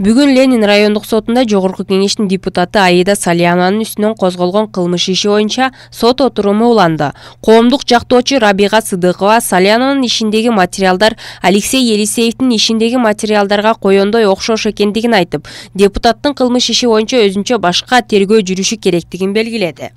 Бүгүн Ленин райондук сотунда Жогорку кеңештин депутаты Аида Салянованын үстүнөн козголгон кылмыш иши боюнча сот отуруму уланды. Коомдук жактоочу Рабига Сыдыкова Салянованын ишиндеги материалдар Алексей Елисеевдин ишиндеги материалдарга коёндой окшош экендигин айтып, депутаттын кылмыш иши боюнча өзүнчө башка тергөө жүрүшү керектигин белгиледи.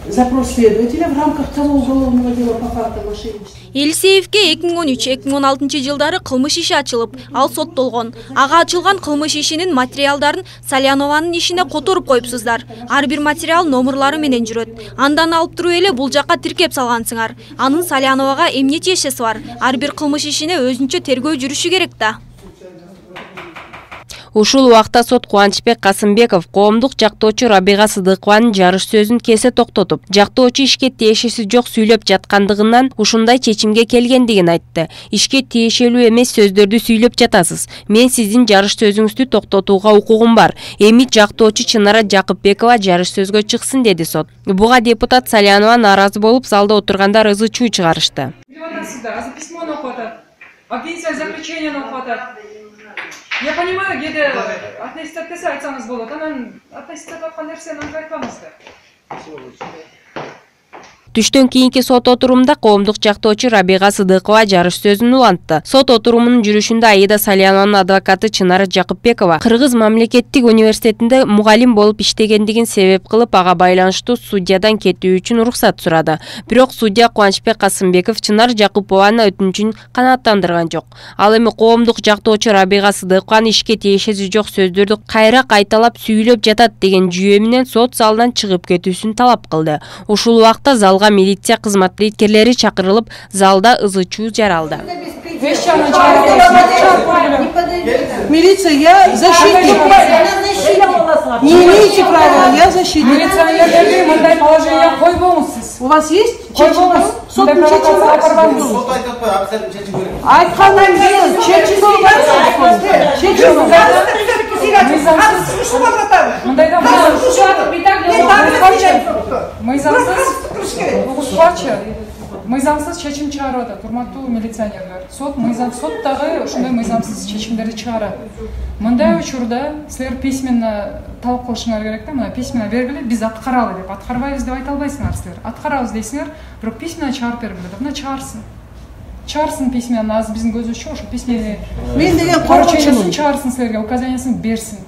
Запрос следователя в рамках того уголовного дела по факту мошенничества. Елисеевке 2013-2016 жылдары кылмыш иши ачылып, ал соттолгон. Ага ачылган кылмыш ишинин материалдарын Салянованын ишине которуп коюпсуздар. Ар бир материал номерлары менен жүрөт. Андан алып туруп эле бул жакка тиркеп салгансыңар. Анын Саляновага эмне тиешеси бар? Ар бир кылмыш ишине өзүнчө тергөө жүрүшү керек да. Ушул убакта сот Кубанычбек Касымбеков коомдук жактоочу Рабига Сыдыкованын жарыш сөзүн кесе токтотуп, жактоочу ишке тиешеси жок сүйлөп жаткандыгынан ушундай чечимге келгендигин айтты. Ишке тиешелүү эмес сөздөрдү сүйлөп жатасыз. Мен сиздин жарыш сөзүңүздү токтотууга укугум бар. Эми жактоочу Чынара Жакыпбекова жарыш сөзгө чыксын, деди сот. Буга депутат Салянова нааразы болуп, залда отургандар ызы чуу чыгарышты. Я понимаю, где-то аттестация айтсаңыз болот, анан аттестация аткан нерсени айтпаңыздар. Түштөн кийинки сот отурумда коомдук жактоочу Рабига Сыдыкова жарыш сөзүн улантты. Сот отурумунун жүрүшүндө Аида Салянованын адвокаты Чынара Жакыпбекова Кыргыз мамлекеттик университетинде мугалим болуп иштегендигин себеп кылып, ага байланыштуу судьядан кетүү үчүн уруксат сурады. Бирок судья Кубанычбек Касымбеков Чынара Жакыпованын өтүнүчүн канааттандырган жок. Ал эми коомдук жактоочу Рабига Сыдыкованын ишке тиешеси жок сөздөрдү кайра кайталап сүйлөп жатат деген жүйө менен сот залынан чыгып кетүүсүн талап кылды. Ушул убакта залга милиция кызматкерлери чакырылып, залда ызы чуу жаралды. Милиция, я защитник. Не имеете права, я защитник. Милиционерлерге мындай положение койбоңуз сиз. У вас есть? Сот Айткандан кийин чечим мыйзамсыз чечим чыгарып атат, урматтуу милиционерлер. Сот дагы ушундай мыйзамсыз чечимдерди чыгарат. Мындай учурда силер письменно талап кылышыңар керек да, мына письменно бергиле, биз аткаралы деп, аткарбайбыз деп айта албайсыңар силер. Аткарабыз дейсиңер, бирок письменно чыгарып бергиле деп, мына чыгарсын письменно, азыр биздин көзүбүзчө ошо письменно. Мен деген поручениесин чыгарсын силерге, указаниясын берсин.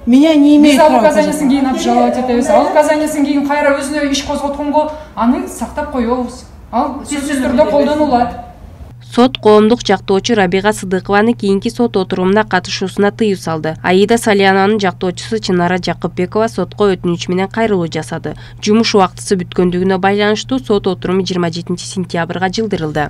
Меня не имеет права. Биз указаниясын кийин обжаловать этебиз. Ал указаниясын кийин кайра өзүнө иш козготконго аны сактап коебуз. Ал сөзсүз түрдө колдонулат. Сот коомдук жактоочу Рабига Сыдыкованын кийинки сот отурумуна катышуусуна тыюу салды. Аида Салянованын жактоочусу Чынара Жакыпбекова сотко өтүнүч менен кайрылуу жасады. Жумуш убактысы бүткөндүгүнө байланыштуу сот отуруму 27 сентябрга жылдырылды.